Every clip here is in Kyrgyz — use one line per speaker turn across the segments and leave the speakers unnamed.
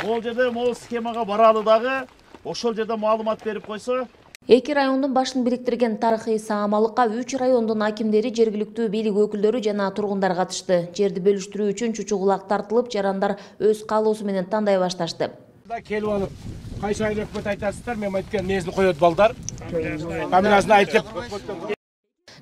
Ол жерде могу схемага баралы дагы ошол жерде маалымат берип койсо.
Эки райондун башын бириктирген тарыхый саамалыкка 3 райондун акимдери, жергиликтүү бийлик өкүлдөрү жана тургундар катышты. Жерди бөлүштүрүү үчүн чучугулак тартылып, жарандар өз каалоосу менен тандай башташты.
Келип алып, кайсы айыл өкмөт айтасыздар, мен айткан мезин коет балдар. Фамилиясын айтып.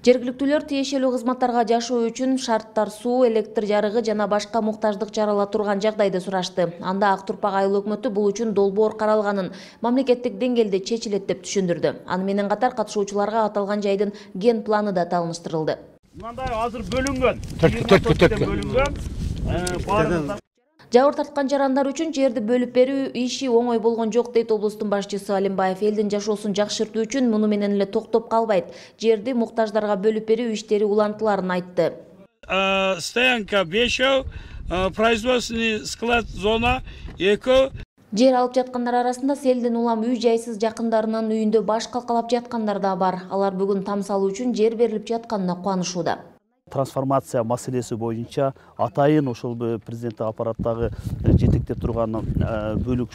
Жергиликтүүлөр тиешелүү кызматтарга жашоо үчүн шарттар, суу, электр жарыгы жана башка муктаждык чарала турган жагдайды сурашты. Анда Ак Турпак айыл өкмөтү бул үчүн долбоор каралганын, мамлекеттик деңгээлде чечилет деп түшүндүрдү. Аны менен катар катышуучуларга аталган жайдын ген планы да тааныштырылды.
Мындай азыр бөлүнгөн.
Бөлүнгөн.
Жабыр тарткан жарандар үчүн жерди бөлүп берүү иши оңой болгон жок дейт облустун башчысы Алимбаев. Элдин жашоосун жакшыртуу үчүн муну менен эле токтоп калбайт. Жерди муктаждарга бөлүп берүү иштери улантыларын айтты.
Стоянка 5, производственный склад зона 2.
Жер алып жаткандар арасында селден улам үй жайсыз жакындарынын үйүндө баш калкалап жаткандар да бар. Алар бүгүн там салуу үчүн жер берилип жатканына кубанышууда.
Трансформация маселеси боюнча атайын ошол президенттик аппараттагы жетектеп турган бөлүк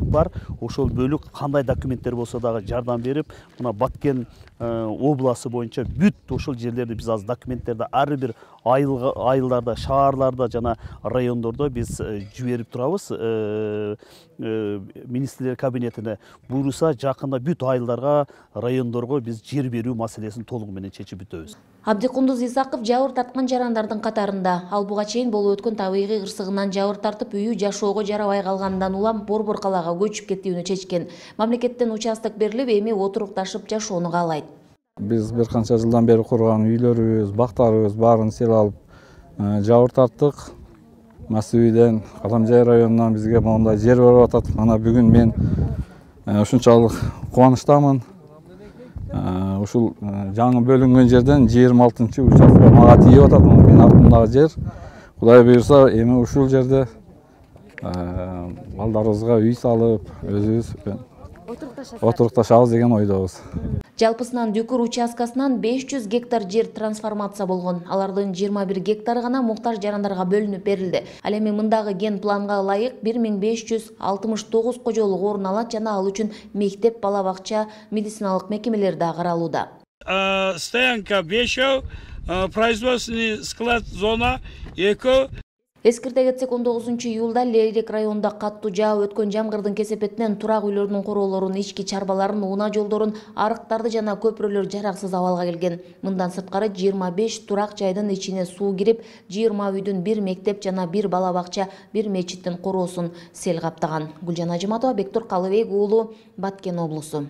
бар. Ошол бөлүк кандай документтер болсо дагы жардам берип, мына Баткен областы боюнча бүт ошол жерлерди биз азыр документтерди ар бир айылдарда, шаарларда жана райондордо биз жиберип турабыз. Министрлер кабинетине буйруса жакында бүт айылдарга, райондорго биз жер берүү маселесин толугу менен чечип бүтөбүз.
Абдикундуз Исаков жабыр тарткан жарандардын катарында. Ал буга чейин болуп өткөн табигый кырсыгынан жабыр тартып, үйү жашоого жарабай калгандан улам Борбор калаага көчүп кетүүнү чечкен. Мамлекеттен участок берилип, эми отурукташып жашоону каалайт.
Биз бир канча жылдан бери курган үйлөрүбүз, бактарыбыз баарын сел алып жабыр тарттык. Масүйдөн, Каламжай районунан бизге моундай жер берип атат. Мана бүгүн мен ушунчалык кубанычтамын. Ушул жаңы бөлүнгөн жерден 26-чы участок мага тийип атат. Менин артымдагы жер. Кудай буйруса, эми ушул жерде балдарыбызга үй салып, өзүбүз отурукташабыз деген ойдобуз.
Жалпысынан Дүкүр участкасынан 500 гектар жер трансформация болгон. Алардын 21 гектары гана муктаж жарандарга бөлүнүп берилди. Ал эми мындагы ген планга ылайык 1569 кожолук орун алат жана ал үчүн мектеп, бала бакча, медициналык мекемелер да каралууда.
Стоянка 5, производственный склад зона 2.
Эскерте кетсек, 19-июлда Лейрек районунда каттуу жаап өткөн жамгырдын кесепетинен турак үйлөрдүн короолорун, ички чарбаларын, унаа жолдорун, арыктарды жана көпүрөлөр жараксыз абалга келген. Мындан сырткары 25 турак жайдын ичине суу кирип, 20 үйдүн 1 мектеп жана 1 бала бакча, 1 мечиттин короосун сел каптаган. Гүлжан Ажыматова, Бектур Калыбек уулу, Баткен облусу.